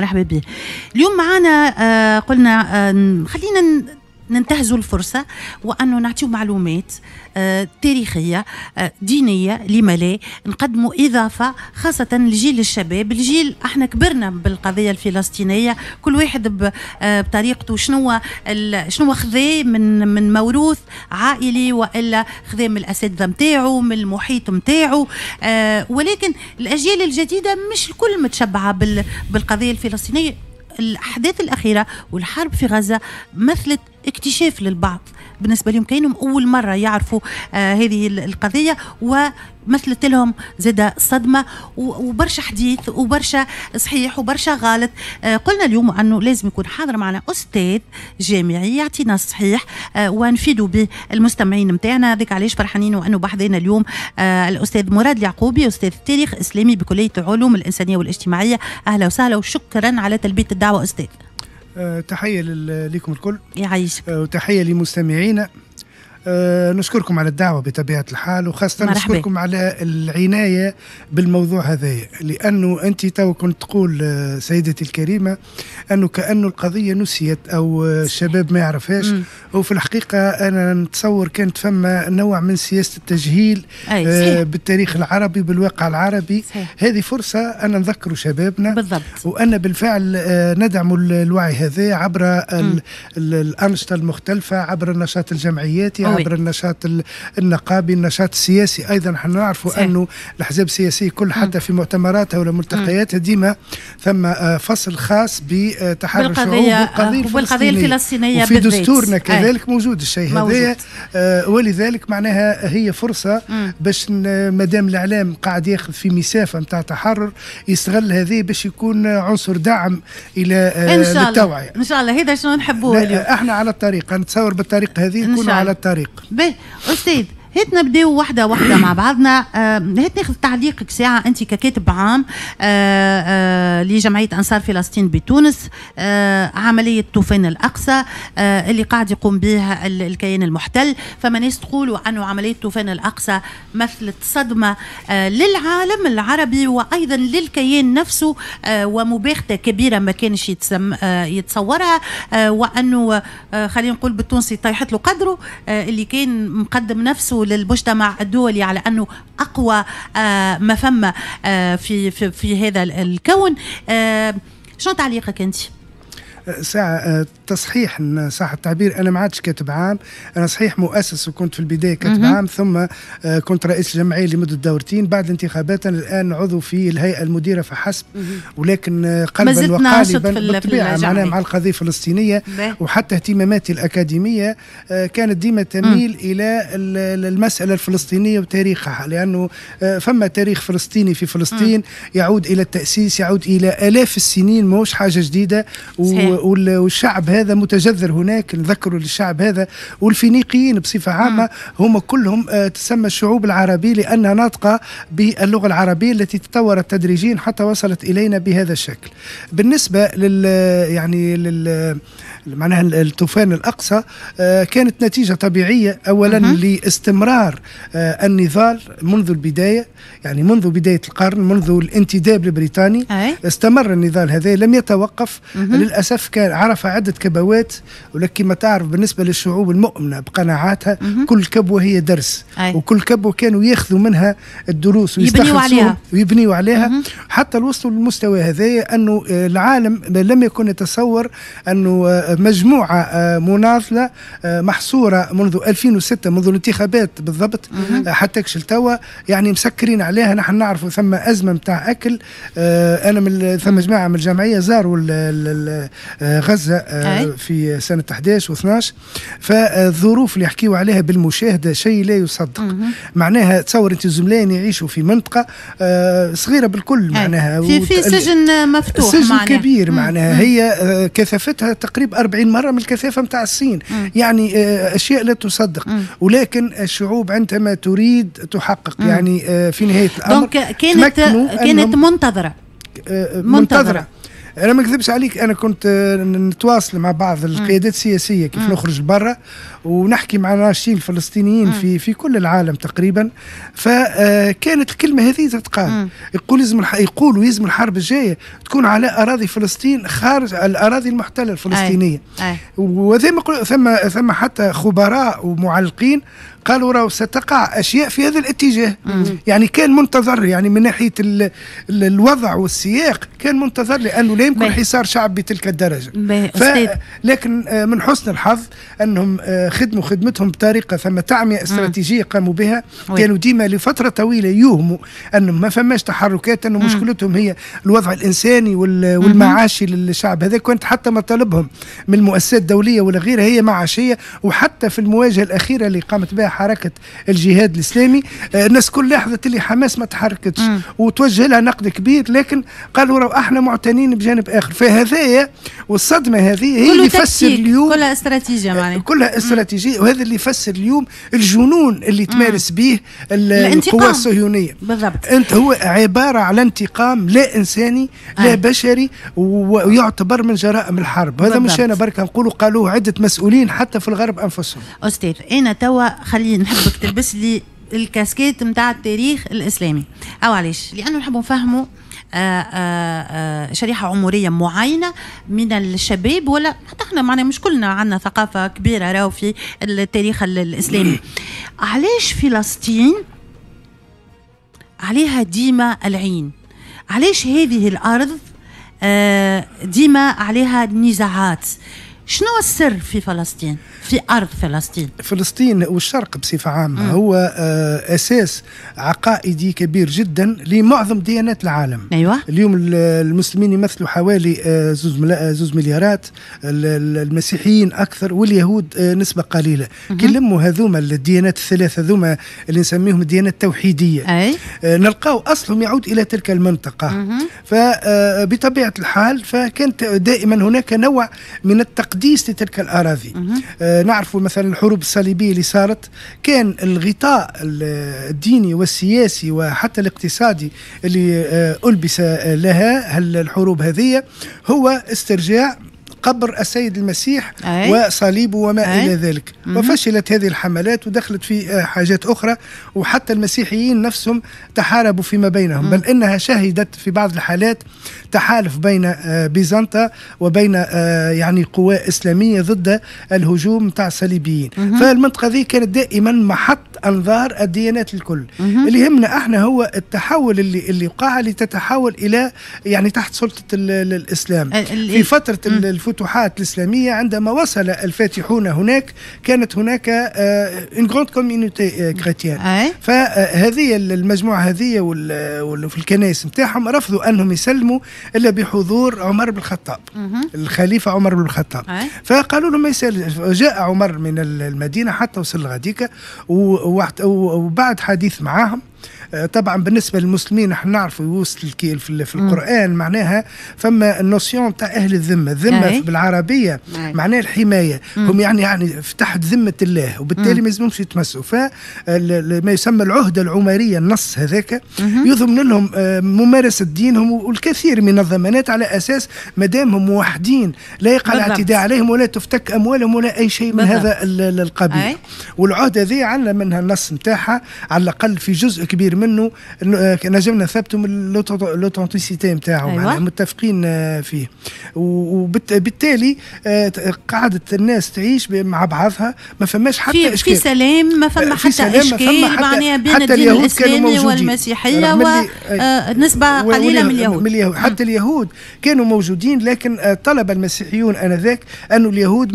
مرحبا به. اليوم معنا قلنا خلينا ننتهزوا الفرصة وأنه نعطيو معلومات تاريخية دينية، لما لا نقدموا إضافة خاصة لجيل الشباب، الجيل احنا كبرنا بالقضية الفلسطينية، كل واحد بطريقته، شنو خذا من موروث عائلي وإلا خذا من الأساتذة نتاعو، من المحيط نتاعو، ولكن الأجيال الجديدة مش الكل متشبعة بالقضية الفلسطينية. الأحداث الأخيرة والحرب في غزة مثلت اكتشاف للبعض، بالنسبة لهم كأنهم أول مرة يعرفوا هذه القضية، ومثلت لهم زاد صدمة وبرشا حديث وبرشا صحيح وبرشا غلط. قلنا اليوم أنه لازم يكون حاضر معنا أستاذ جامعي يعطينا الصحيح ونفيدوا به المستمعين نتاعنا. هذاك علاش فرحانين وأنه بحذينا اليوم الأستاذ مراد اليعقوبي، أستاذ تاريخ إسلامي بكلية العلوم الإنسانية والاجتماعية. أهلا وسهلا وشكرا على تلبية الدعوة أستاذ. تحية لكم الكل، يعيشك، وتحية لمستمعينا. نشكركم على الدعوة بطبيعة الحال، وخاصة نشكركم على العناية بالموضوع هذا، لأنه أنت تو كنت تقول سيدتي الكريمة أنه كأنه القضية نسيت أو الشباب ما يعرفهاش. وفي الحقيقة أنا نتصور كانت فما نوع من سياسة التجهيل بالتاريخ العربي بالواقع العربي. هذه فرصة أن نذكروا شبابنا بالضبط، وأن بالفعل ندعم الوعي هذا عبر الأنشطة المختلفة، عبر النشاط الجمعياتي، عبر النشاط النقابي، النشاط السياسي ايضا. نحن نعرفوا انه الاحزاب السياسية كل حتى في مؤتمراتها ولا ملتقياتها ديما ثم فصل خاص بتحرر الشعوب والقضية الفلسطينية، وفي دستورنا كذلك موجود الشيء هذا. ولذلك معناها هي فرصة باش مادام الاعلام قاعد ياخذ في مسافة نتاع تحرر يستغل هذه باش يكون عنصر دعم الى للتوعية. ان شاء الله هذا شنو نحبوه اليوم. احنا على الطريق، نتصور بالطريقة هذه نكونوا على الطريق. باهي أستاذ، هات نبداو واحدة واحدة مع بعضنا. هات ناخذ تعليقك ساعة أنت ككاتب عام لجمعية أنصار فلسطين بتونس، عملية طوفان الأقصى اللي قاعد يقوم بها الكيان المحتل. فما ناس تقولوا أنه عملية طوفان الأقصى مثلت صدمة للعالم العربي وأيضا للكيان نفسه، ومباغتة كبيرة ما كانش يتصورها، وأنه خلينا نقول بالتونسي طيحت له قدره اللي كان مقدم نفسه للمجتمع الدولي على انه اقوى ما فما في في في هذا الكون. شنو تعليقك انت؟ ساعة تصحيح صح التعبير، أنا ما عادش كاتب عام، أنا صحيح مؤسس وكنت في البداية كاتب عام، ثم كنت رئيس الجمعية لمدة دورتين. بعد الانتخابات أنا الآن عضو في الهيئة المديرة فحسب، ولكن قلبا وقالبا بالطبيعة معناها مع القضية الفلسطينية، وحتى اهتماماتي الأكاديمية كانت ديما تميل إلى المسألة الفلسطينية وتاريخها، لأنه فما تاريخ فلسطيني في فلسطين يعود إلى التأسيس، يعود إلى آلاف السنين، ماهوش حاجة جديدة. والشعب هذا متجذر هناك، نذكروا للشعب هذا والفينيقيين بصفة عامة هم كلهم تسمى الشعوب العربية لأنها ناطقة باللغة العربية التي تطورت تدريجيا حتى وصلت إلينا بهذا الشكل. بالنسبة لل يعني لل معناها الطوفان الأقصى كانت نتيجة طبيعية أولا لاستمرار النضال منذ البداية، يعني منذ بداية القرن، منذ الانتداب البريطاني استمر النضال هذا لم يتوقف. للأسف كان عرف عدة كبوات، ولكن ما تعرف بالنسبة للشعوب المؤمنة بقناعاتها كل كبوة هي درس، وكل كبوة كانوا ياخذوا منها الدروس ويبنيوا عليها حتى وصلوا للمستوى هذا، أنه العالم لم يكن يتصور أنه مجموعة مناضلة محصورة منذ 2006، منذ الانتخابات بالضبط حتى كشل توا، يعني مسكرين عليها. نحن نعرفوا ثم أزمة متاع أكل. أنا من ثم جماعة من الجمعية زاروا غزة في سنة 11 و12، فالظروف اللي يحكيوا عليها بالمشاهدة شيء لا يصدق. معناها تصور أنت زملائي يعيشوا في منطقة صغيرة بالكل، معناها في سجن مفتوح، سجن معناها كبير، معناها هي كثافتها تقريبا 40 مرة من الكثافة متاع الصين، يعني أشياء لا تصدق. ولكن الشعوب عندما تريد تحقق، يعني في نهاية الأمر كانت منتظرة. انا ما نكذبش عليك، انا كنت نتواصل مع بعض القيادات السياسية كيف نخرج برا ونحكي مع ناشطين الفلسطينيين في كل العالم تقريبا، فكانت الكلمة هذه تتقال، يقول لازم يقولوا لازم الحرب الجاية تكون على اراضي فلسطين خارج الاراضي المحتلة الفلسطينية. وذي ثم حتى خبراء ومعلقين قالوا راهو ستقع اشياء في هذا الاتجاه. يعني كان منتظر، يعني من ناحية الوضع والسياق كان منتظر، لانه لا يمكن حصار شعب بتلك الدرجة. لكن من حسن الحظ انهم خدموا خدمتهم بطريقة ثم تعميه استراتيجية قاموا بها. كانوا ديما لفترة طويلة يوهموا انه ما فماش تحركات، انه مشكلتهم هي الوضع الانساني والمعاشي للشعب هذا. كانت حتى مطالبهم من المؤسسات الدولية ولا غيرها هي معاشيه. وحتى في المواجهة الاخيرة اللي قامت بها حركة الجهاد الاسلامي، الناس كل لاحظت اللي حماس ما تحركتش وتوجه لها نقد كبير، لكن قالوا راهو احنا معتنين بجانب اخر. فهذايا والصدمه هذه هي اللي يفسر اليوم كلها استراتيجية، معناها كلها استراتيجية، وهذا اللي يفسر اليوم الجنون اللي تمارس به القوى الصهيونية. بالضبط، انت هو عبارة على انتقام لا انساني لا بشري، ويعتبر من جرائم الحرب. هذا مش انا بركة نقولوا، قالوه عده مسؤولين حتى في الغرب انفسهم. استاذ، انا توا خليني نحبك تلبس لي الكاسكيت نتاع التاريخ الاسلامي، او علاش؟ لانه نحب نفهموا شريحة عمرية معينة من الشباب، ولا حتى احنا معنا مش كلنا عندنا ثقافة كبيرة راهو في التاريخ الاسلامي. علاش فلسطين عليها ديما العين؟ علاش هذه الارض ديما عليها نزاعات؟ شنو السر في فلسطين، في أرض فلسطين؟ فلسطين والشرق بصفة عامة هو أساس عقائدي كبير جدا لمعظم ديانات العالم. أيوة. اليوم المسلمين يمثلوا حوالي 2 مليارات، المسيحيين أكثر، واليهود نسبة قليلة. كي نلموا هذوما الديانات الثلاثة هذوما اللي نسميهم الديانات التوحيدية، نلقاو أصلهم يعود إلى تلك المنطقة. فبطبيعة الحال فكانت دائما هناك نوع من التقديس لتلك الأراضي. نعرف مثلا الحروب الصليبية اللي صارت، كان الغطاء الديني والسياسي وحتى الاقتصادي اللي ألبس لها الحروب هذه هو استرجاع قبر السيد المسيح وصليبه وما إلى ذلك. وفشلت هذه الحملات ودخلت في حاجات أخرى، وحتى المسيحيين نفسهم تحاربوا فيما بينهم. بل إنها شهدت في بعض الحالات تحالف بين بيزنطة وبين يعني قوى إسلامية ضد الهجوم تاع الصليبيين. فالمنطقة ذي كانت دائما محط أنظار الديانات الكل. اللي يهمنا احنا هو التحول اللي وقع لتتحول إلى يعني تحت سلطة الإسلام في فترة الفتوحات الإسلامية. عندما وصل الفاتحون هناك كانت هناك une grande communauté chrétienne. فهذه المجموعة هذه وفي الكنائس نتاعهم رفضوا أنهم يسلموا إلا بحضور عمر بن الخطاب، الخليفة عمر بن الخطاب. فقالوا لهم ما يسال. جاء عمر من المدينة حتى وصل لغاديكا، وبعد حديث معاهم، طبعا بالنسبة للمسلمين نحن نعرفوا يوصل في القران معناها فما ال notion تاع اهل الذمه، الذمة بالعربية معناها الحمايه. هم يعني تحت ذمه الله، وبالتالي ما يلزمهمش يتمسوا. فما يسمى العهده العمريه، النص هذاك يضمن لهم ممارسة دينهم والكثير من الضمانات، على اساس ما دامهم موحدين لا يقع الاعتداء عليهم ولا تفتك اموالهم ولا اي شيء من هذا القبيل. والعهده ذي عندنا منها النص نتاعها على الاقل في جزء كبير منه نجمنا نثبتوا من l'authenticité نتاعو. متفقين فيه، وبالتالي قعدت الناس تعيش مع بعضها، ما فماش حتى اشكال، في سلام، ما فما حتى اشكال معناها بين الدين الاسلامي والمسيحية ونسبه قليله من اليهود. من اليهود. حتى اليهود كانوا موجودين، لكن طلب المسيحيون انذاك أن اليهود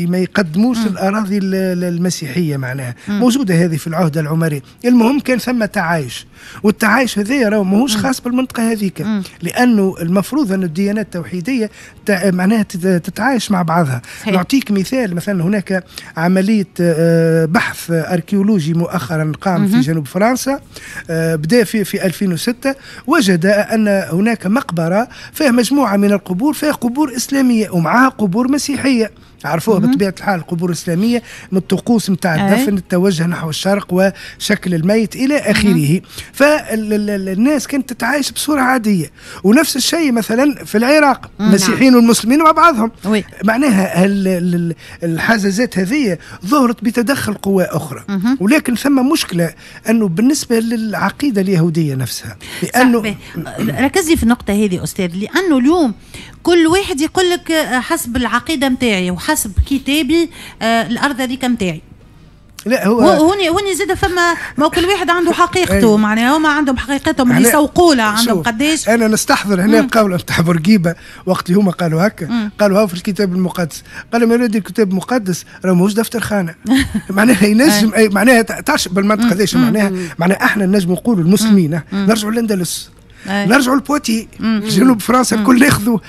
ما يقدموش الاراضي المسيحيه، معناها موجودة هذه في العهده العمريه. المهم كان ثم تعايش، والتعايش هذا راهو ماهوش خاص بالمنطقة هذيك، لانه المفروض ان الديانات التوحيديه معناها تتعايش مع بعضها. نعطيك مثال، مثلا هناك عملية بحث اركيولوجي مؤخرا قام في جنوب فرنسا، بدا في 2006، وجد ان هناك مقبره فيها مجموعة من القبور، فيها قبور اسلامية ومعها قبور مسيحيه. عرفوها بطبيعة الحال القبور الإسلامية من الطقوس نتاع الدفن، التوجه نحو الشرق وشكل الميت إلى آخره. فالناس كانت تتعايش بصورة عادية. ونفس الشيء مثلا في العراق، المسيحيين والمسلمين مع بعضهم. معناها الحزازات هذه ظهرت بتدخل قوى أخرى. ولكن ثم مشكلة أنه بالنسبة للعقيدة اليهودية نفسها، لأنه ركزي في النقطة هذه أستاذ، لأنه اليوم كل واحد يقول لك حسب العقيدة متاعي وحسب كتابي الأرض هذيك متاعي. لا هو هوني زاد فما، ما كل واحد عنده حقيقته، معناها هما عندهم حقيقتهم اللي يسوقوا لها، عندهم قداش. انا نستحضر هنا القول نتاع بورقيبة وقت اللي هما قالوا هكا، قالوا هاو في الكتاب المقدس، قالوا يا ولدي الكتاب المقدس راه ماهوش دفتر خانه. معناها ينجم معناها تعرف بالمنطق هذا معناها احنا نجم نقولوا المسلمين نرجعوا للاندلس، نرجعوا ل Poitiers، جنوب فرنسا، الكل ياخذوا.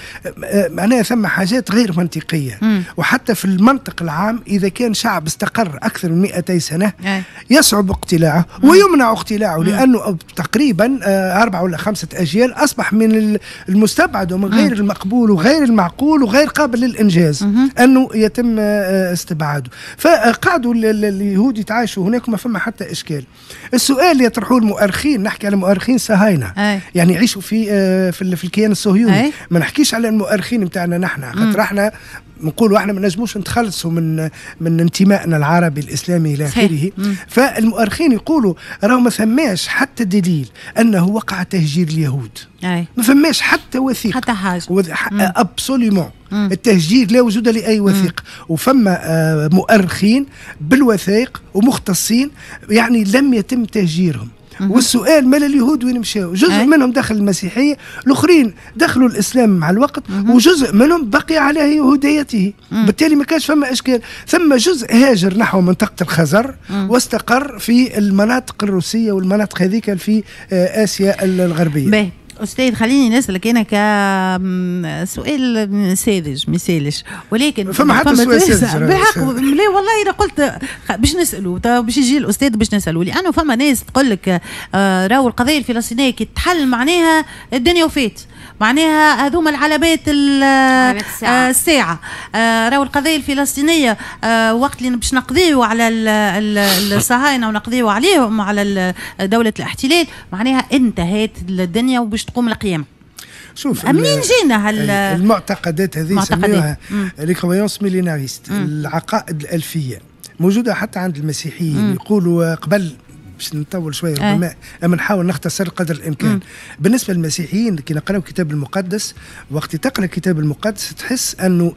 معناها ثم حاجات غير منطقية. وحتى في المنطق العام اذا كان شعب استقر اكثر من 200 سنة يصعب اقتلاعه ويمنع اقتلاعه، لانه تقريبا 4 ولا 5 اجيال اصبح من المستبعد ومن غير المقبول وغير المعقول وغير قابل للانجاز انه يتم استبعاده. فقعدوا اليهود يتعايشوا هناك وما فما حتى اشكال. السؤال اللي يطرحوه المؤرخين، نحكي على مؤرخين صهاينة يعني يعيشوا في الكيان الصهيوني، ما نحكيش على المؤرخين نتاعنا نحن، خاطر احنا نقولوا احنا ما نجموش نتخلصوا من انتمائنا العربي الاسلامي الى اخره. فالمؤرخين يقولوا راهو ما ثماش حتى دليل انه وقع تهجير اليهود، ما فماش حتى وثيقة، حتى حاجة absolument. التهجير لا وجود لاي وثيقة. وفما مؤرخين بالوثائق ومختصين يعني لم يتم تهجيرهم. والسؤال مال اليهود وين مشاو؟ جزء منهم دخل المسيحية، الاخرين دخلوا الاسلام مع الوقت، وجزء منهم بقي على يهوديته. بالتالي ما كانش فما اشكال. ثم جزء هاجر نحو منطقة الخزر واستقر في المناطق الروسية والمناطق هذيك في اسيا الغربية. باهي أستاذ، خليني نسألك أنا كسؤال ساذج مثالش، ولكن فما حتى سؤال ساذج بالحق. لا والله أنا قلت باش نسأله، باش يجي الأستاذ باش نسأله، لأنه فما ناس تقول لك راهو القضية الفلسطينية كي تحل معناها الدنيا وفات، معناها هذوما العلامات الساعة، راهو القضية الفلسطينية وقت اللي باش نقضيو على الصهاينة ونقضيو عليهم على دولة الاحتلال معناها انتهت الدنيا وباش تقوم القيامة. شوف منين جينا المعتقدات هذه يسميوها les croyances millénaristes، العقائد الألفية، موجودة حتى عند المسيحيين. يقولوا قبل، باش نطول شوية ربما، اما نحاول نختصر قدر الامكان. بالنسبة للمسيحيين كي نقراو الكتاب المقدس، وقت تقرا الكتاب المقدس تحس انه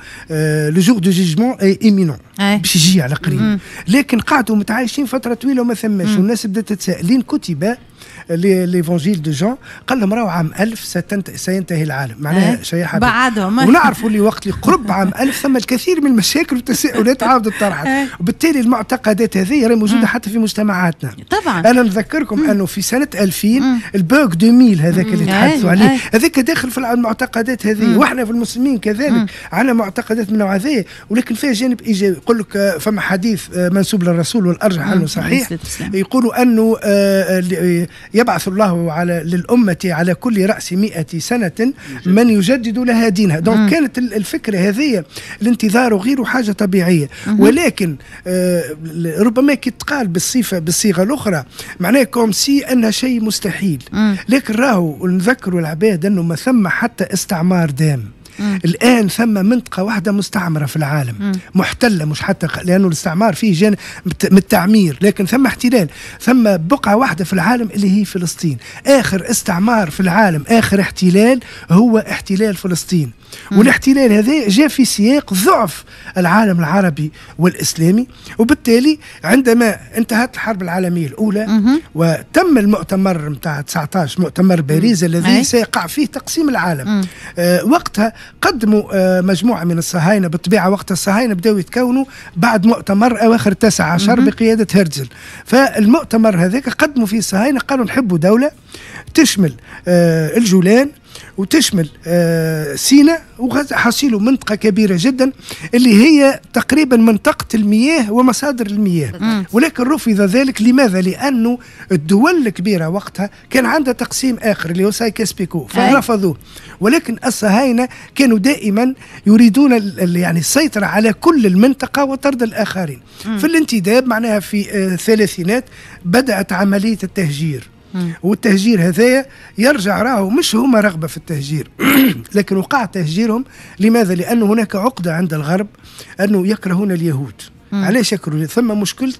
le jour du jugement est imminent، باش يجي على قريب. لكن قعدوا متعايشين فترة طويلة وما ثماش، والناس بدات تتساءل لين كتب l'évangile de Jean، قال لهم راهو عام 1000 سينتهي العالم، معناها شيء بعدهم. ونعرفوا اللي وقت اللي قرب عام 1000 ثم الكثير من المشاكل والتساؤلات عاودت طرحت. وبالتالي المعتقدات هذه راهي موجودة حتى في مجتمعاتنا. طبعا انا نذكركم انه في سنة 2000 ال bug 2000 هذاك اللي تحدثوا عليه، هذاك داخل في المعتقدات هذه. واحنا في المسلمين كذلك عندنا معتقدات من النوع هذا، ولكن فيها جانب ايجابي. يقول لك فما حديث منسوب للرسول والارجح انه صحيح، يقولوا انه يبعث الله على للأمة على كل رأس 100 سنة من يجدد لها دينها. donc كانت الفكرة هذه الانتظار وغيره حاجة طبيعية. ولكن ربما كي تقال بالصيغة الأخرى معناه comme si أنها شيء مستحيل. لكن راهو نذكروا العباد أنه ما ثم حتى استعمار دام. الآن ثم منطقة واحدة مستعمرة في العالم، محتلة، مش حتى لأنه الاستعمار فيه جانب من التعمير، لكن ثم احتلال. ثم بقعة واحدة في العالم اللي هي فلسطين. آخر استعمار في العالم، آخر احتلال هو احتلال فلسطين. والاحتلال هذا جاء في سياق ضعف العالم العربي والإسلامي. وبالتالي عندما انتهت الحرب العالمية الأولى وتم المؤتمر متاع 19، مؤتمر باريس الذي سيقع فيه تقسيم العالم، وقتها قدموا مجموعة من الصهاينة. بالطبيعة وقت الصهاينة بدأوا يتكونوا بعد مؤتمر أواخر 19 بقيادة هرتزل. فالمؤتمر هذاك قدموا فيه الصهاينة، قالوا نحبوا دولة تشمل الجولان وتشمل وتشمل سيناء وغزة، حصيله منطقة كبيرة جدا اللي هي تقريبا منطقة المياه ومصادر المياه. ولكن رفض ذلك. لماذا؟ لأنه الدول الكبيرة وقتها كان عندها تقسيم آخر اللي هو سايكس بيكو، فرفضوه. ولكن الصهاينة كانوا دائما يريدون يعني السيطرة على كل المنطقة وطرد الآخرين. في الانتداب معناها في الثلاثينات بدأت عملية التهجير. والتهجير هذايا يرجع راهو مش هما رغبة في التهجير لكن وقع تهجيرهم. لماذا؟ لأنه هناك عقدة عند الغرب أنه يكرهون اليهود. علاش يكرهون؟ ثم مشكلة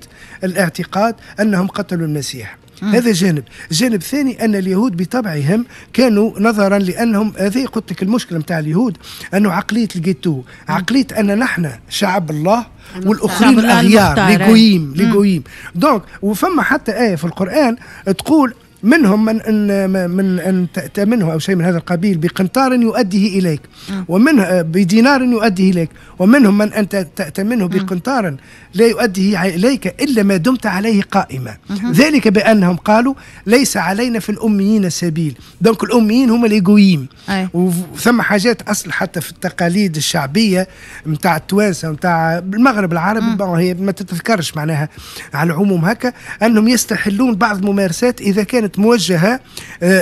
الاعتقاد أنهم قتلوا المسيح. هذا جانب. جانب ثاني أن اليهود بطبعهم كانوا نظرا لأنهم، هذه قلت لك المشكلة متاع اليهود، أنه عقلية الجيتو، عقلية أن نحن شعب الله والآخرين الأغيار، les goïms les goïms. donc وفما حتى آية في القرآن تقول منهم من ان تأتمنه او شيء من هذا القبيل بقنطار يؤديه اليك، ومنه بدينار يؤديه اليك، ومنهم من ان تأتمنه بقنطار لا يؤديه اليك الا ما دمت عليه قائما. ذلك بانهم قالوا ليس علينا في الاميين سبيل. donc الاميين هم les goïms. وثم حاجات اصل حتى في التقاليد الشعبية نتاع التوانسة نتاع المغرب العربي، هي ما تتذكرش معناها على العموم هكا، انهم يستحلون بعض الممارسات اذا كانت موجهة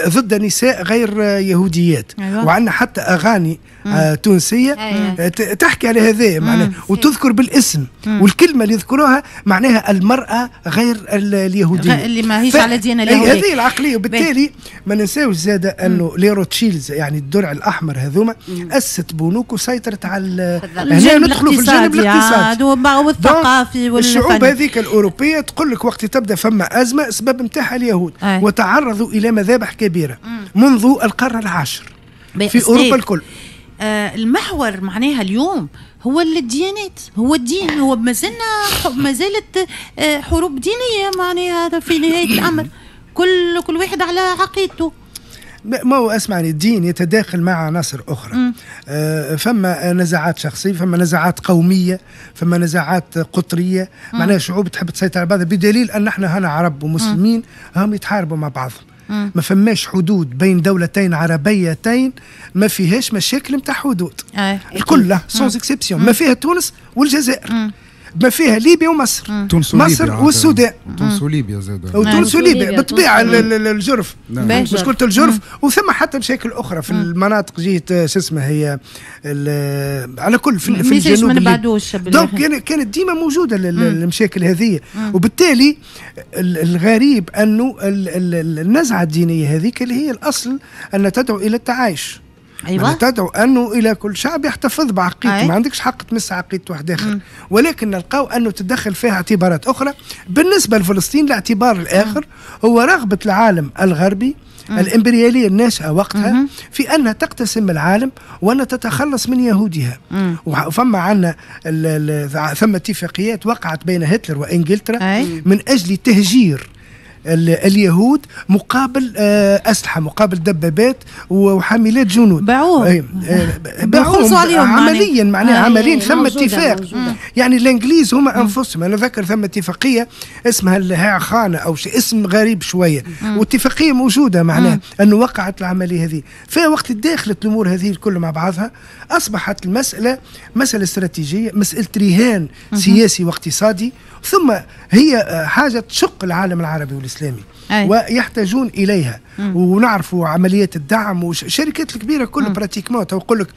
ضد نساء غير يهوديات. أيوة. وعندنا حتى أغاني تونسية. أيوة. تحكي على هذا معناها، وتذكر بالاسم. والكلمة اللي يذكروها معناها المرأة غير اليهودية اللي ما هيش على دين اليهودية. هذه العقلية. وبالتالي ما ننساوش زادة أنه les Rothschild يعني الدرع الأحمر هذوما أسست بنوك وسيطرت على هنا ندخلوا في الجانب الاقتصادي والثقافي والفني. الشعوب هذيك الأوروبية تقول لك وقت تبدأ فما أزمة السبب نتاعها اليهود. وتعرضوا إلى مذابح كبيرة منذ القرن العاشر في أوروبا الكل. المحور معناها اليوم هو الديانات، هو الدين، هو ما زالت حروب دينية معناها في نهاية الأمر. كل واحد على عقيدته. ما هو اسمعني، الدين يتداخل مع عناصر اخرى. فما نزاعات شخصية، فما نزاعات قومية، فما نزاعات قطرية. معناها شعوب تحب تسيطر على بعضها، بدليل ان احنا هنا عرب ومسلمين هم يتحاربوا مع بعضهم. ما فماش حدود بين دولتين عربيتين ما فيهاش مشاكل نتاع حدود. الكل sans exception. ما فيها تونس والجزائر، ما فيها ليبيا ومصر، تونس مصر والسودان، تونس وليبيا زاد، وتونس وليبيا بالطبيعة الجرف، مشكلة الجرف. وثم حتى مشاكل اخرى في المناطق جهة شو اسمها هي على كل في الجنوب. ما نبعدوش. donc كانت ديما موجودة المشاكل هذه. وبالتالي الغريب انه النزعة الدينية هذيك اللي هي الاصل ان تدعو الى التعايش. أيوة. تدعو أنه إلى كل شعب يحتفظ بعقيدته. ما عندكش حق تمس عقيدة واحد آخر. ولكن نلقاو أنه تدخل فيها اعتبارات أخرى. بالنسبة لفلسطين الاعتبار الآخر هو رغبة العالم الغربي الإمبريالية الناشئة وقتها في أنها تقتسم العالم وأن تتخلص من يهودها. وفما عندنا ثم اتفاقيات وقعت بين هتلر وإنجلترا من أجل تهجير اليهود مقابل أسلحة، مقابل دبابات وحاملات جنود. باعوهم باعوهم عمليا معناها عمليا. ثم اتفاق يعني الإنجليز هما أنفسهم، أنا ذكر ثم اتفاقية اسمها الهاخانة أو شيء اسم غريب شوية، واتفاقية موجودة معناها أنه وقعت العملية هذه. في وقت داخلت الأمور هذه الكل مع بعضها أصبحت المسألة مسألة استراتيجية، مسألة رهان سياسي واقتصادي، ثم هي حاجة تشق العالم العربي والإسلامي. ويحتاجون إليها. ونعرفوا عمليات الدعم والشركات الكبيرة كل pratiquement تقول لك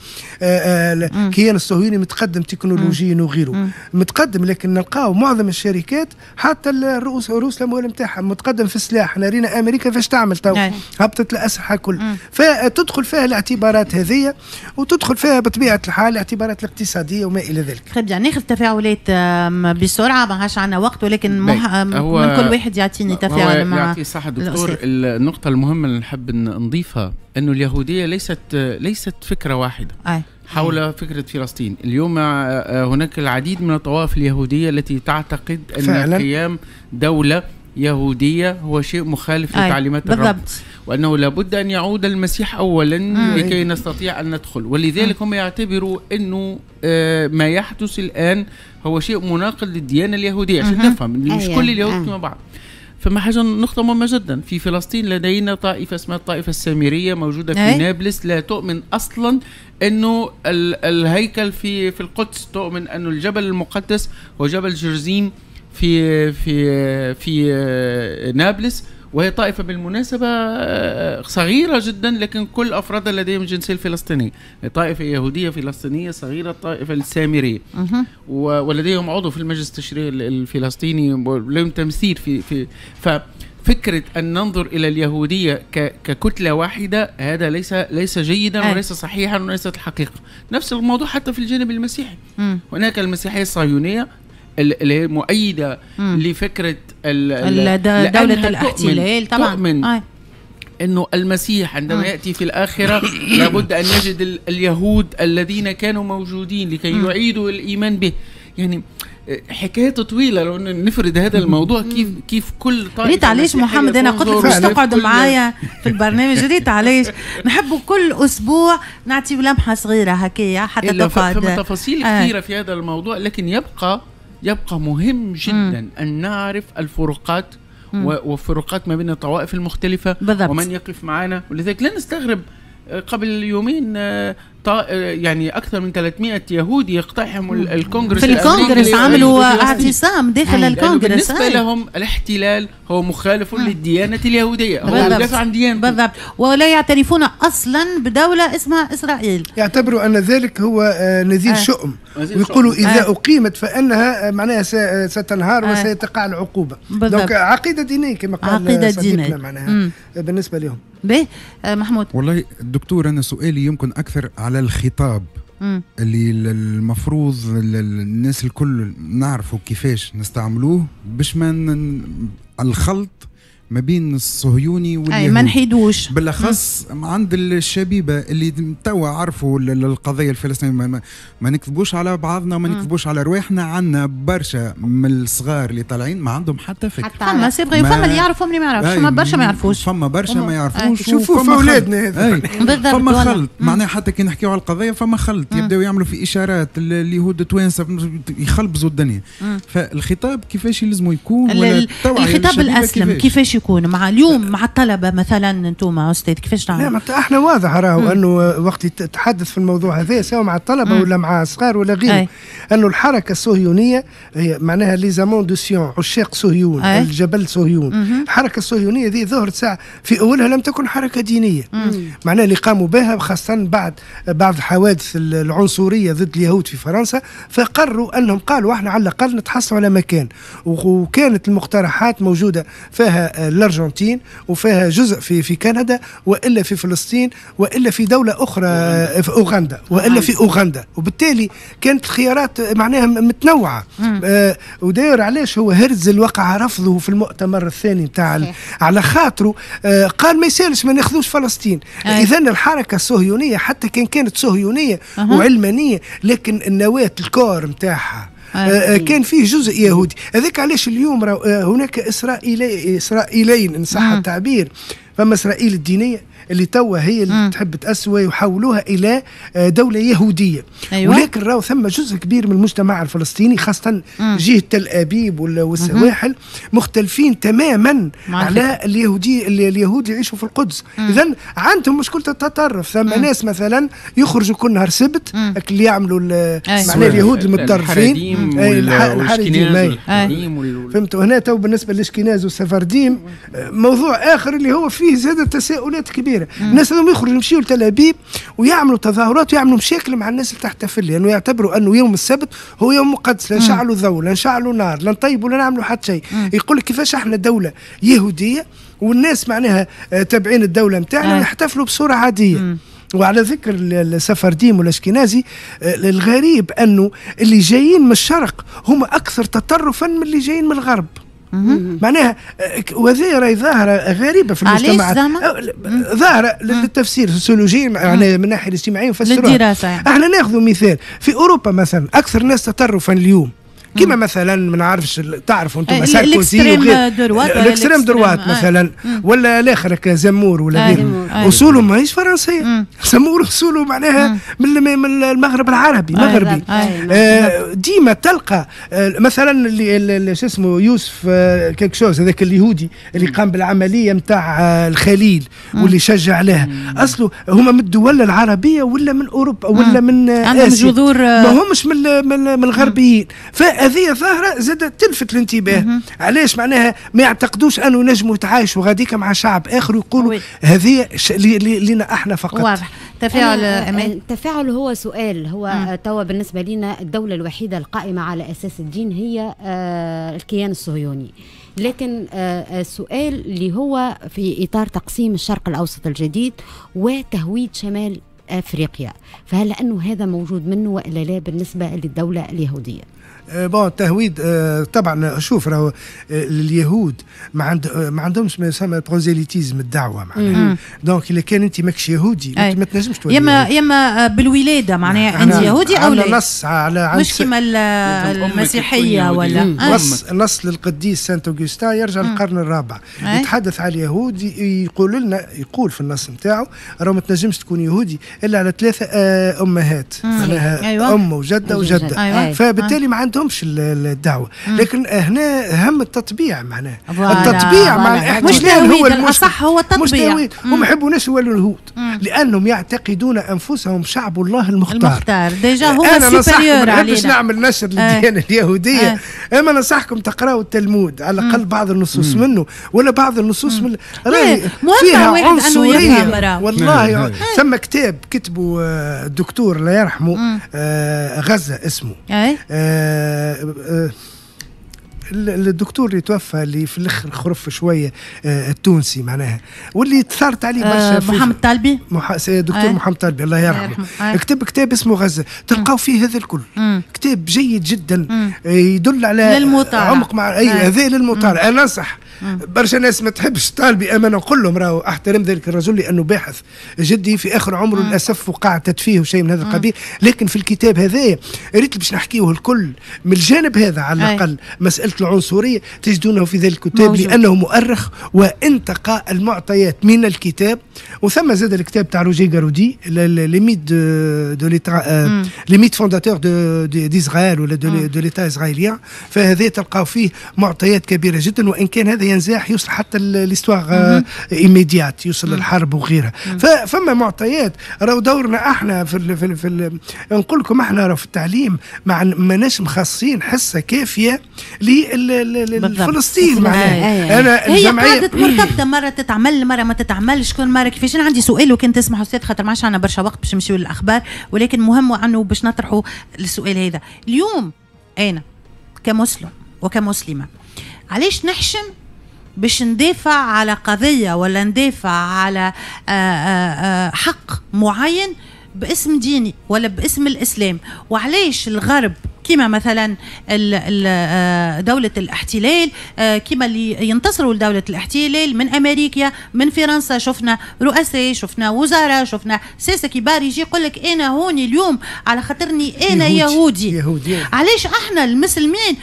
الكيان الصهيوني متقدم تكنولوجيا وغيره متقدم، لكن نلقاو معظم الشركات حتى رؤوس الأموال نتاعها متقدم في السلاح. احنا رينا أمريكا فاش تعمل تو، هبطت الأسلحة كل. فتدخل فيها الاعتبارات هذه، وتدخل فيها بطبيعة الحال الاعتبارات الاقتصادية وما إلى ذلك. طيب يعني ناخذ تفاعلات بسرعة، ما عادش عندنا وقت، ولكن من كل واحد يعطيني تفاعل مع صح دكتور. النقطة المهمة اللي نحب نضيفها أنه اليهودية ليست فكرة واحدة. حول فكرة فلسطين اليوم هناك العديد من الطوائف اليهودية التي تعتقد أن فعلا قيام دولة يهودية هو شيء مخالف لتعليمات الرب، وأنه لابد أن يعود المسيح أولا لكي نستطيع أن ندخل. ولذلك هم يعتبروا أنه ما يحدث الآن هو شيء مناقض للديانة اليهودية، عشان نفهم مش كل اليهود كما بعض. فما حاجة نقطة مهمة جدا، في فلسطين لدينا طائفة اسمها الطائفة السامرية موجودة في نابلس، لا تؤمن أصلا أنه الهيكل في القدس، تؤمن أنه الجبل المقدس هو جبل جرزيم في في في نابلس، وهي طائفة بالمناسبة صغيرة جدا لكن كل أفرادها لديهم الجنسية الفلسطينية، طائفة يهودية فلسطينية صغيرة، الطائفة السامرية، ولديهم عضو في المجلس التشريعي الفلسطيني ولهم تمثيل في ففكرة أن ننظر إلى اليهودية ككتلة واحدة هذا ليس جيدا وليس صحيحا وليست الحقيقة. نفس الموضوع حتى في الجانب المسيحي، هناك المسيحية الصهيونية اللي هي مؤيدة لفكرة دولة الاحتلال طبعا، تؤمن أنه المسيح عندما يأتي في الآخرة لابد أن يجد اليهود الذين كانوا موجودين لكي يعيدوا الإيمان به. يعني حكاية طويلة لو نفرد هذا الموضوع، كيف كل طائفة. ريت علاش محمد أنا قلت لك باش تقعد معايا في البرنامج، ريت علاش نحبوا كل أسبوع نعطي لمحة صغيرة هكايا حتى تقعد. فما تفاصيل كثيرة في هذا الموضوع، لكن يبقى مهم جدا أن نعرف الفروقات والفروقات ما بين الطوائف المختلفة بالضبط. ومن يقف معنا. ولذلك لا نستغرب قبل يومين يعني أكثر من 300 يهودي يقتحموا الكونغرس في الكونغرس، عملوا اعتصام داخل الكونغرس. بالنسبة لهم الاحتلال هو مخالف للديانة اليهودية، هو يدافع عن ديانته بالضبط، ولا يعترفون أصلا بدولة اسمها إسرائيل، يعتبروا أن ذلك هو نذير شؤم، ويقولوا إذا أقيمت فإنها معناها ستنهار وسيتقع العقوبة. donc عقيدة دينية كما قال صديقنا معناها بالنسبة لهم. باهي محمود. والله الدكتور أنا سؤالي يمكن أكثر على الخطاب اللي المفروض الناس الكل نعرفوا كيفاش نستعملوه باش ما الخلط ما بين الصهيوني واليهودي، ما نحيدوش، بالاخص عند الشبيبة اللي توا عرفوا القضية الفلسطينية. ما نكذبوش على بعضنا وما نكذبوش على رواحنا، عندنا برشا من الصغار اللي طالعين ما عندهم حتى فكرة. فما c'est vrai، فما اللي يعرفوا اللي ما يعرفوش، فما برشا ما يعرفوش، فما برشا ما يعرفوش. شوفوا في اولادنا هذا بالضبط، فما خلط معناها حتى كي نحكيو على القضية فما خلط، يبداو يعملوا في اشارات اليهود التوانسة يخلبزوا الدنيا. فالخطاب كيفاش يلزموا يكون، ولا الخطاب الاسلم كيفاش يكون مع اليوم مع الطلبة مثلا؟ انتم استاذ كيفاش تعمل؟ لا احنا واضح راهو انه وقت تحدث في الموضوع هذا سواء مع الطلبة ولا مع الصغار ولا غيره، انه الحركة الصهيونية هي معناها les amants de Sion، عشاق صهيون، الجبل صهيون. الحركة الصهيونية ذي ظهرت ساعة في اولها لم تكن حركة دينية، معناها اللي قاموا بها خاصة بعد بعض الحوادث العنصرية ضد اليهود في فرنسا، فقرروا انهم قالوا احنا على الاقل نتحصلوا على مكان، وكانت المقترحات موجودة فيها الارجنتين وفيها جزء في كندا والا في فلسطين والا في دولة اخرى في اوغندا والا في اوغندا، وبالتالي كانت الخيارات معناها متنوعة. وداير علاش هو هرتزل وقع رفضه في المؤتمر الثاني نتاع على خاطره، قال ما يسالش ما ناخذوش فلسطين. اذا الحركة الصهيونية حتى كان كانت صهيونية وعلمانيه، لكن النواة ال corps نتاعها كان فيه جزء يهودي. هذاك علاش اليوم هناك إسرائيلين إن صح التعبير. فما إسرائيل الدينية اللي توا هي اللي تحب تأسوي ويحولوها إلى دولة يهودية. أيوة. ولكن راهو ثم جزء كبير من المجتمع الفلسطيني خاصة جهة تل أبيب والسواحل مختلفين تماما على اليهود يعيشوا في القدس. إذا عندهم مشكلة التطرف. ثم ناس مثلا يخرجوا كل نهار سبت اللي يعملوا معناها اليهود المتطرفين الحريديم. فهمتوا؟ هنا تو بالنسبة للإشكناز والسفرديم موضوع آخر اللي هو فيه زاد تساؤلات كبيرة. الناس هذوم يخرجوا يمشيوا لتل ابيب ويعملوا تظاهرات ويعملوا مشاكل مع الناس اللي تحتفل، لانه يعتبروا انه يوم السبت هو يوم مقدس، لا نشعلوا ضوء، لا نشعلوا نار، لا نطيبوا، لا نعملوا حتى شيء. يقول لك كيفاش احنا دولة يهودية والناس معناها تابعين الدولة نتاعنا ويحتفلوا بصورة عادية. وعلى ذكر السفرديم والاشكنازي، الغريب انه اللي جايين من الشرق هم اكثر تطرفا من اللي جايين من الغرب. معناها وهذه راهي ظاهره غريبة في المجتمعات، ظاهره للتفسير سوسيولوجي يعني من الناحية الاجتماعية نفسروها للدراسة. احنا ناخذ مثال في اوروبا مثلا، اكثر ناس تطرفا اليوم كما مثلا ما نعرفش، تعرفوا انتم ساركوزي وغير ال extrême droite مثلا، ولا الاخر زمور ولا غيره، اصوله ماهيش فرنسية. زمور اصوله معناها من المغرب العربي، مغربي. ديما تلقى مثلا اللي شو اسمه يوسف quelque chose، هذاك اليهودي اللي قام بالعملية نتاع الخليل واللي شجع عليها، اصله هما من الدول العربية ولا من اوروبا ولا من اسيا، جذور ما همش من الغربيين. فهذه ظاهره زادت تلفت الانتباه. علاش معناها ما يعتقدوش انه نجموا يتعايشوا غاديك مع شعب اخر ويقولوا هذه لنا احنا فقط. واضح. تفاعل أمان. التفاعل هو سؤال، هو توا بالنسبة لنا الدولة الوحيدة القائمة على اساس الدين هي الكيان الصهيوني، لكن السؤال اللي هو في اطار تقسيم الشرق الاوسط الجديد وتهويد شمال افريقيا، فهل انه هذا موجود منه والا لا بالنسبة للدولة اليهودية؟ bon التهويد طبعا شوف، راهو اليهود ما عندهمش ما يسمى prosélytisme، الدعوة معناها. donc اذا كان انت ماكش يهودي ما تنجمش تولي يما بالولادة معناها انت يهودي او لا. نص على مش كيما المسيحية ولا نص للقديس Saint Augustin يرجع للقرن الرابع، يتحدث على اليهود، يقول لنا، يقول في النص نتاعو راهو ما تنجمش تكون يهودي الا على 3 امهات، معناها أيوة. ام وجده وجده. أيوة. فبالتالي ما عندهمش الدعوة. لكن هنا هم التطبيع، معناه التطبيع مع الاحتلال هو الاصح، هو التطبيع. هم يحبوناش يولوا اليهود لانهم يعتقدون انفسهم شعب الله المختار. déjà هو supérieur علينا. باش نعمل نشر للديانه اليهودية، اما ننصحكم تقراوا التلمود على الاقل بعض النصوص منه، ولا بعض النصوص من فيها عنصرية والله. ثم كتاب كتبه الدكتور الله يرحمه غزة اسمه، الدكتور اللي توفى اللي في الاخر خرف شوية، التونسي معناها، واللي تثارت عليه برشا، محمد طالبي، دكتور محمد طالبي الله يرحمه، كتب كتاب اسمه غزة، تلقاو فيه هذا الكل. كتاب جيد جدا يدل على عمق مع اي هذا للمطالعه. انا انصح برشا ناس ما تحبش طالبي، اما نقول لهم راهو احترم ذلك الرجل لانه باحث جدي في اخر عمره للاسف وقع تدفيه وشيء من هذا القبيل، لكن في الكتاب هذا ريت باش نحكيه الكل من الجانب هذا على الاقل، مسالة العنصرية تجدونه في ذلك الكتاب لانه مؤرخ وانتقى المعطيات من الكتاب. وثم زاد الكتاب تاع Roger Garaudy، les mythes de l'État، les mythes fondateurs d'Israël ولا de l'État israélien، فهذا تلقاو فيه معطيات كبيرة جدا، وان كان هذا ينزاح يوصل حتى l'histoire immédiate، يوصل للحرب وغيرها. فما معطيات راهو دورنا احنا في ال في, ال في ال نقول لكم احنا راهو في التعليم ماناش مخصصين حصة كافيه لفلسطين معناها. انا هي قاعدة مرتبطة، مرة تتعمل مرة ما تتعملش، كل مرة كيفاش. انا عندي سؤال وكان تسمح استاذ، خاطر ما عادش عندنا برشا وقت باش نمشيو للاخبار، ولكن مهم انه باش نطرحوا السؤال هذا اليوم. انا كمسلم وكمسلمه علاش نحشم باش ندافع على قضية ولا ندافع على حق معين باسم ديني ولا باسم الإسلام؟ وعلاش الغرب كما مثلا دولة الاحتلال، كما اللي ينتصروا لدولة الاحتلال من أمريكا من فرنسا، شفنا رؤساء، شفنا وزراء، شفنا ساسة كبار يجي يقول لك أنا هوني اليوم على خاطرني أنا يهودي. علاش احنا المسلمين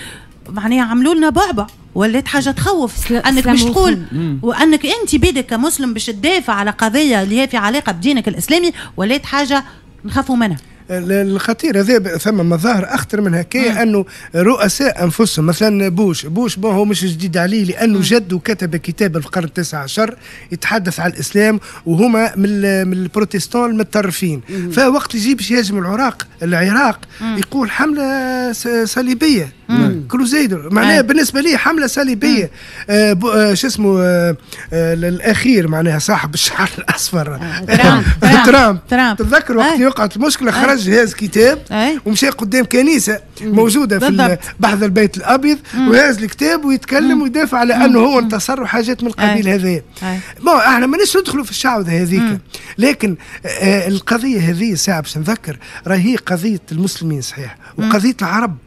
معناها عملوا لنا بعبع ولات حاجة تخوف انك باش تقول وانك انت بيدك كمسلم باش تدافع على قضية اللي هي في علاقة بدينك الاسلامي، ولات حاجة نخافوا منها. الخطير هذا ثم مظاهر اخطر من هكايا، انه رؤساء انفسهم مثلا بوش bon هو مش جديد عليه لانه جده كتب كتاب في القرن التاسع عشر يتحدث على الاسلام، وهما من ال protestants المتطرفين. فوقت يجي باش يهاجم العراق يقول حمله صليبيه، crusader معناها بالنسبة لي حمله صليبيه. شو اسمه الاخير معناها صاحب الشعر الاصفر ترامب، تتذكر وقت وقعت المشكلة خرج جهاز كتاب ومشى قدام كنيسة موجودة في بحث البيت الابيض وهاز الكتاب ويتكلم ويدافع على انه هو انتصر وحاجات من القبيل هذا. bon احنا ماناش ندخلوا في الشعوذة هذيك، لكن القضية هذه ساعة باش نذكر راهي قضية المسلمين صحيح وقضية العرب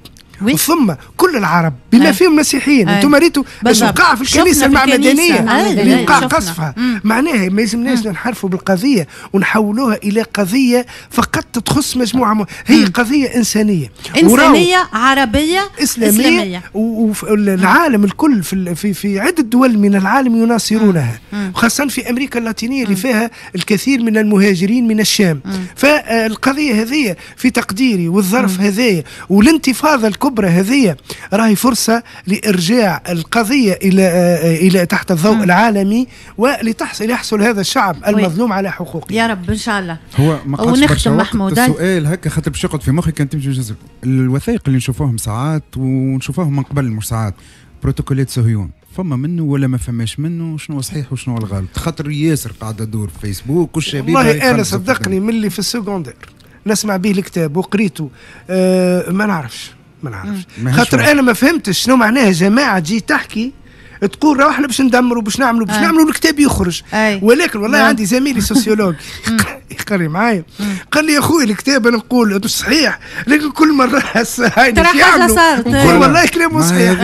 ثم كل العرب بما فيهم مسيحيين. انتم ريتوا ايش وقع في الكنيسة المعمدانيه اللي وقع قصفها. معناها ما يلزمناش ننحرفوا بالقضية ونحولوها الى قضية فقط تخص مجموعة هي قضية انسانيه، انسانيه عربية اسلامية، والعالم الكل في في عده دول من العالم يناصرونها، خاصة في امريكا اللاتينية اللي فيها الكثير من المهاجرين من الشام. فالقضية هذه في تقديري والظرف هذايا والانتفاضه الكبرى هذه راهي فرصة لارجاع القضية الى تحت الضوء العالمي، ولتحصل يحصل هذا الشعب المظلوم على حقوقه. يا رب ان شاء الله. هو ما قعدش محمود السؤال هكا خاطر باش يقعد في مخي كان تمشي الوثائق اللي نشوفوهم ساعات ونشوفوهم من قبل مش ساعات، بروتوكولات صهيون فما منه ولا ما فماش منه، شنو صحيح وشنو الغلط؟ خاطر ياسر قاعدة تدور في فيسبوك والشبيبه. والله انا صدقني من اللي في ال secondaire نسمع به الكتاب وقريته، ما نعرفش خاطر انا ما فهمتش شنو معناها جماعة تجي تحكي تقول راه احنا باش ندمروا باش نعملوا باش نعملوا الكتاب يخرج. ولكن والله عندي زميلي sociologue يقري معايا قال لي يا خويا الكتاب انا نقول مش صحيح، لكن كل مرة هاي صارت نقول والله كلامه صحيح.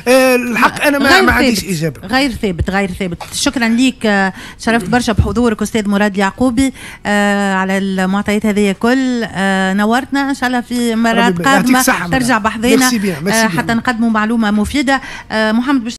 الحق انا ما عنديش اجابه. غير ثابت، غير ثابت. شكرا ليك، شرفت برشا بحضورك استاذ مراد اليعقوبي على المعطيات هذه كل. نورتنا ان شاء الله في مرات قادمة ترجع بحذينا حتى نقدموا معلومة مفيدة. محمد.